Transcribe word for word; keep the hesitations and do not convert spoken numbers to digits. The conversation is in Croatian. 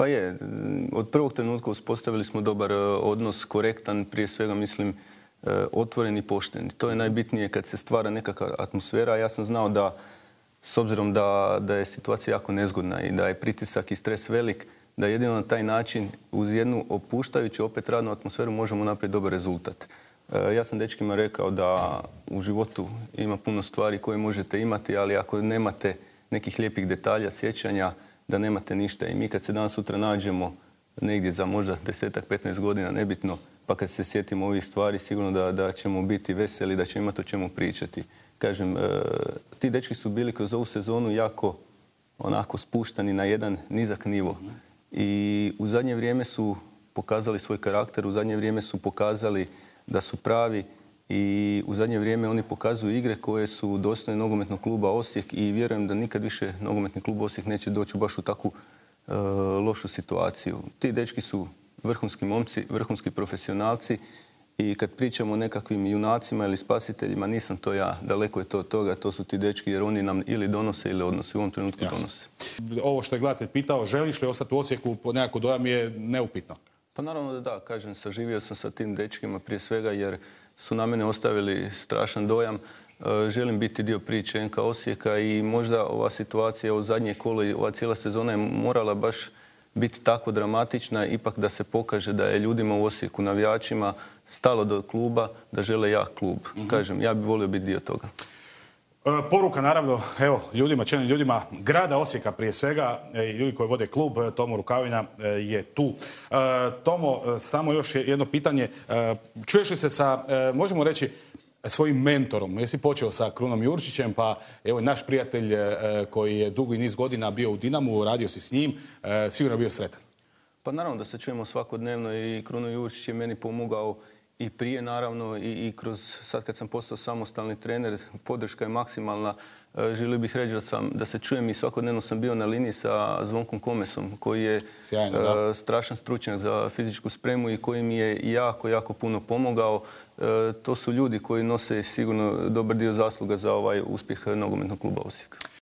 Pa je. Od prvog trenutka uspostavili smo dobar odnos, korektan, prije svega mislim otvoren i pošten. To je najbitnije kad se stvara nekakva atmosfera. Ja sam znao da, s obzirom da, da je situacija jako nezgodna i da je pritisak i stres velik, da jedino na taj način uz jednu opuštajuću opet radnu atmosferu možemo napraviti dobar rezultat. Ja sam dečkima rekao da u životu ima puno stvari koje možete imati, ali ako nemate nekih lijepih detalja, sjećanja, da nemate ništa. I mi kad se danas sutra nađemo negdje za možda desetak, petnaest godina, nebitno, pa kad se sjetimo ovih stvari, sigurno da, da ćemo biti veseli, da ćemo imati o čemu pričati. Kažem, e, ti dečki su bili kroz ovu sezonu jako onako spuštani na jedan nizak nivo. I u zadnje vrijeme su pokazali svoj karakter, u zadnje vrijeme su pokazali da su pravi i u zadnje vrijeme oni pokazuju igre koje su dostojne nogometnog kluba Osijek i vjerujem da nikad više nogometni klub Osijek neće doći baš u takvu e, lošu situaciju. Ti dečki su vrhunski momci, vrhunski profesionalci i kad pričamo o nekakvim junacima ili spasiteljima, nisam to ja, daleko je to od toga, to su ti dečki jer oni nam ili donose ili odnose, u ovom trenutku Jasne. donose. Ovo što je gledatelj pitao, želiš li ostati u Osijeku, nekako dojam je neupitno. Pa naravno da da, kažem, saživio sam sa tim dečkima prije svega jer su na mene ostavili strašan dojam. Želim biti dio priče en ka Osijeka i možda ova situacija u zadnje kolo i ova cijela sezona je morala baš biti tako dramatična, ipak da se pokaže da je ljudima u Osijeku, navijačima, stalo do kluba, da žele jak klub. Mm-hmm. Kažem, ja bih volio biti dio toga. E, poruka naravno, evo, ljudima, čelnim ljudima grada Osijeka prije svega, i ljudi koji vode klub, Tomo Rukavina je tu. E, Tomo, samo još jedno pitanje. E, čuješ li se sa, e, možemo reći, svojim mentorom? Jesi počeo sa Krunom Jurčićem, pa evo naš prijatelj e, koji je dugo i niz godina bio u Dinamu, radio si s njim, e, sigurno je bio sretan. Pa naravno da se čujemo svakodnevno i Kruno Jurčić je meni pomogao i prije naravno i, i kroz sad kad sam postao samostalni trener, podrška je maksimalna. E, želio bih reći da, sam, da se čujem i svakodnevno sam bio na liniji sa Zvonkom Komesom koji je Sjajno, e, strašan stručnjak za fizičku spremu i koji mi je jako, jako puno pomogao. E, to su ljudi koji nose sigurno dobar dio zasluga za ovaj uspjeh nogometnog kluba Osijek.